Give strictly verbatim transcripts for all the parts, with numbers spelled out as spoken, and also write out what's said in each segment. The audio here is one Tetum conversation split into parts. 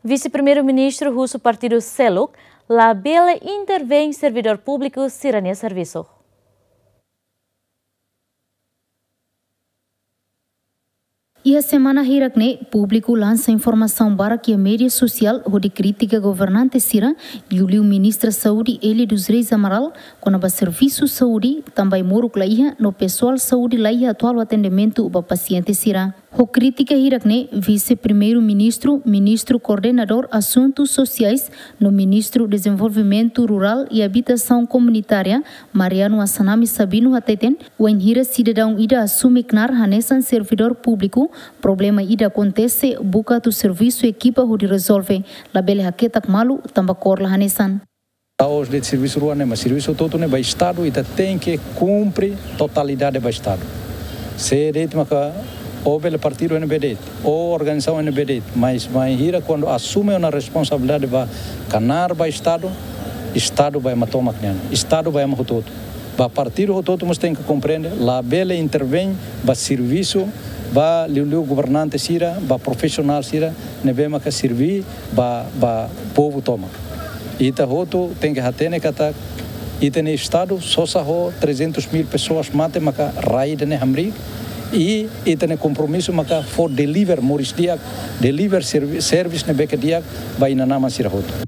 Vise-Primeiru-Ministru husu partidu seluk labele intervein servidór públiku sira-nia servisu. Iha semana hirak ne'e, públiku lansa informasaun barak iha média sosiál hodi kritika governante sira, liuliu Ministra Saúde Élia dos Reis Amaral, kona-ba servisu saúde, tanba ai-moruk la iha, no pesoál saúde la iha atu halo atendimentu ba pasiente sira. Ho krítika hirak ne'e, Vise-Primeiru-Ministru, Ministru Koordenadór Asuntus Sosiais, no Ministru Dezenvolvimentu Rurál i Abitasaun Komunitária, Mariano Assanami Sabino hateten, wainhira sidadaun ida asume knaar hanesan servidór públiku, problema ida akontese, buka atu servisu ekipa hodi rezolve, labele haketak malu, tanba kór la hanesan. La'ós de'it servisu rua ne'e, mas servisu hotu-hotu ne'e ba Estadu, ita tenke kumpre totalidade ba Estadu. Sé de'it maka, ó bele partidu N B de'it, ó organizasaun N B de'it, mas, mas bainhira kuandu asume ona responsabilidade ba knaar ba Estadu, Estadu ba ema tomak nian, Estadu ba ema hotu-hotu. Ba partidu hotu-hotu mós tenke komprende, labele intervein ba servisu, ba liuliu governante sira, ba profisionál sira, ne'ebé maka serve ba, ba povu tomak. Ita hotu tenke hatene katak, ita-nia Estadu sosa ho trezentos mil pessoas mate maka rai ida-ne'e hamriik, i ita-nia kompromisu maka fó deliver moris di'ak, deliver servi-, servisu ne'ebé ke di'ak ba inan-aman sira hotu.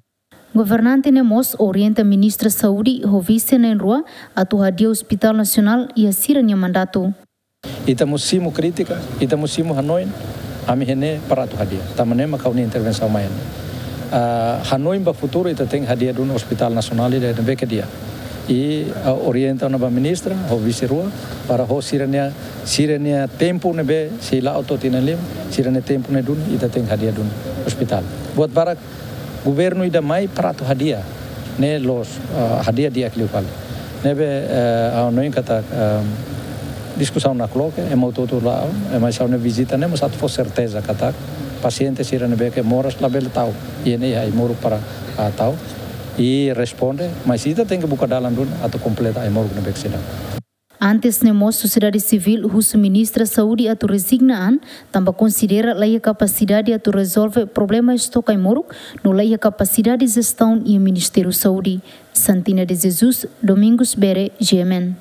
Governante ne'e mós orienta Ministra Saúde ho vise na'in-rua atu hadi'a Hospitál Nasionál iha sira-nia mandatu. Ita mós simu krítika, ita mós simu hanoin, ami hein para atu hadi'a. Tanba ne'e maka ha'u-nia intervensaun mai ne'e. Ah, hanoin ba futuru ita tenke hadi'a duni Hospitál Nasionál ida ne'ebé ke di'ak. I, ah, orienta ona ba ministra, ho vise rua, para ho sira-nia, sira-nia tempu ne'ebé sei la'o to'o tinan lima, sira-nia tempu ne'e duni, ita tenke hadi'a duni ospitál. Buat barak governu ida mai para atu hadi'a, ne'e la'ós, ah, hadi'a di'ak liu fali. Ne'ebé, eh, ha'u hanoin katak, ehm, diskusaun nakloke, ema hotu-hotu la'o, ema sira-nia vizita ne'e mós atu fó serteza katak pasiente sira ne'ebé ke moras labele tau, i ne'e ai-moruk para, ah, tau, i responde, mas ita tenke buka dalan duni atu kompleta ai-moruk ne'ebé ke seidauk. Antes ne'e mós sosiedade sivíl husu Ministra Saúde atu rezigna an, tanba konsidera la iha kapasidade atu rezolve problema estoke ai-moruk, no la iha kapasidade jestaun iha Ministériu Saúde. Santina de Jesus, Domingos Bere, G M N.